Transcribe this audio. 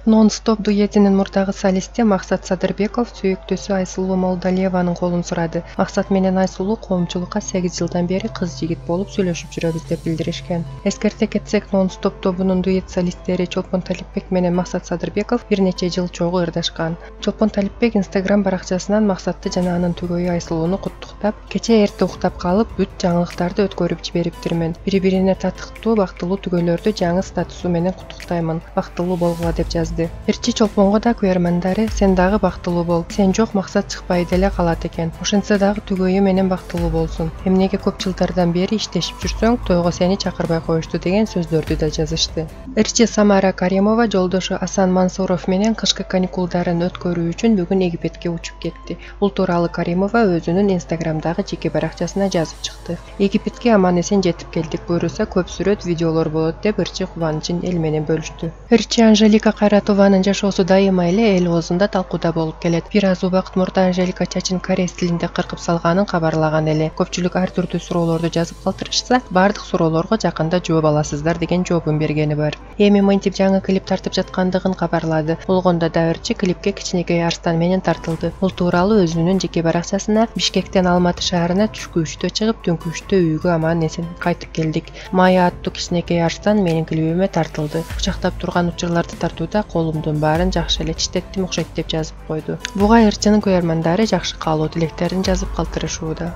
Non-Stop дуэтинин мурдагы солисти Максат Садырбеков сүйүктүүсү Айсулуу Молдалиеванын колун сурады. Максат менен Айсулуу коомчулукка 8 жылдан бери кыз-жигит болуп сүйлөшүп жүрөбүз деп билдиришкен. Эскерте кетсек, Non-Stop тобунун дуэт солисттери Чолпон Талипбек менен Максат Садырбеков бир нече жыл чогуу ырдашкан. Чолпон Талипбек Instagram баракчасынан Максатты жана анын түгөйү Айсулууну куттуктап, кечээ эрте уктап калып, бүт жаңылыктарды өткөрүп жибериптирмин. Бири-бирине татыктуу, бактылуу түгөйлөрдү жаңы статусу менен куттуктаймын. Бактылуу болгула деп жазды. Эрчи Чолпонго да көрөрмандары сен дагы бактылуу бол. Сен жок Максат чыкпай деле калат экен. Ошентсе дагы түгөйү менен бактылуу болсун. Эмнеге көп жылдардан бери иштешип жүрсөң, тойго сени чакырбай коюшту деген сөздөрдү да жазышты. Эрчи Самара Каримова жолдошу Асан Мансуров менен кышкы каникулдарын өткөрүү үчүн бүгүн Египетке учуп кетти. Бул тууралуу Каримова өзүнүн Instagramдагы жеке баракчасына жазып чыкты. Египетке аман-эсен жетип келдик, буйруса көп сүрөт, видеолор болот деп Эрчи кубанычын эл менен бөлүштү. Эрчи Анжелика Кайратованын жашоосу дайыма эле эл оозунда талкууда болуп келет. Бир аз убакыт мурда Анжелика чачын корейс тилинде кыркып салганын кабарлаган эле. Көпчүлүк ар түрдүү суроолорду жазып калтырышса, бардык суроолорго жакында жооп аласыздар деген жообун бергени бар. Эми мынтип жаңы клип тартып жаткандыгын кабарлады. Болгондо да Эрчи клипке кичинекей арстан менен тартылды. Бул тууралуу өзүнүн жеке баракчасына Бишкектен Алматы шаарына түшкү 3-тө чыгып, түнкү 3-тө үйгө аман-эсен кайтып келдик. Мая аттуу кичинекей арстан менин клипиме тартылды. Кучактап турган учурларды тартууда колумдун баарын жакшы эле читтеттим окшойт деп жазып койду. Буга Эрчинин көрөрмандары жакшы каалоо тилектерин жазып калтырышууда.